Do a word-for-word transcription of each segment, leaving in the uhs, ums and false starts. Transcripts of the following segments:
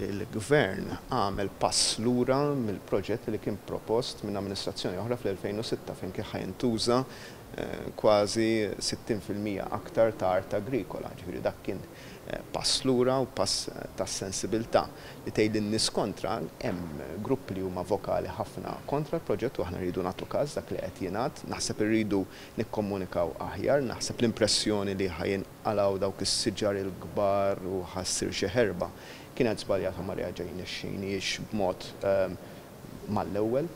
Il-gvern għamel pass lura mill-proġett li kien propost minn amministrazzjoni oħra fl-elfejn u sitta fejn kien ħa jintuża kważi sittin fil-mija aktar ta' art agrikola. Ġifieri dak kien pass lura u pass ta' sensibilità li tgħid lin-nies kontra. Hemm gruppi li huma vokali ħafna kontra l-proġett u aħna rridu nagħtu każ dak li qed jingħad. Naħseb irridu nikkomunikaw aħjar, naħseb l-impressjoni li ħajinqalgħu dawk is-siġar il-kbar u ħassir xi ħerba kienet żbaljata, ma reaġejniex b'mod mal-ewwel.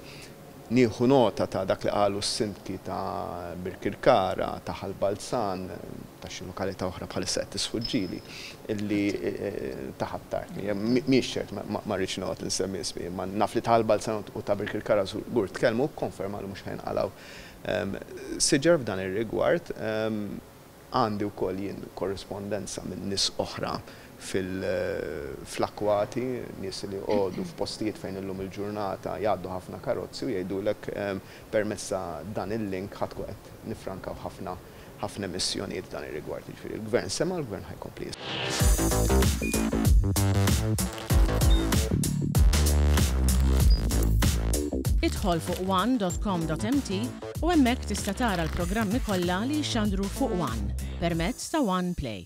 Nieħu nota ta' dak li qalu s-sindki ta' Birkirkara, ta' Ħal Balzan, ta' xi lokalità oħra bħalissa qed tisfuġġili, illi ta' Ħ'Attard. Mhijiex ċert, ma rridx noqgħod insemmi ismi, ma naf li ta' Ħal Balzan u ta' Birkirkara żgur tkellmu, kkonfermaw li mhux ħajnqalgħu siġar f'dan ir-rigward. Għandi wkoll jien korrispondenza minn nies oħra fil-akwati, nies li għodu f'postijiet fejn illum il-ġurnata jgħaddu ħafna karozzi u jgħidulek permezz ta' dan il-link ħa tkun qed nifrankaw ħafna ħafna emissjonijiet f'dan ir-rigward. Jiġifieri il-gvern sema', l-gvern ħajkompli jisma'. Idħol fuq one dot com dot m t u hemmhekk tista' tara l-programmi kollha li jxandru fuq One permezz ta' One Play.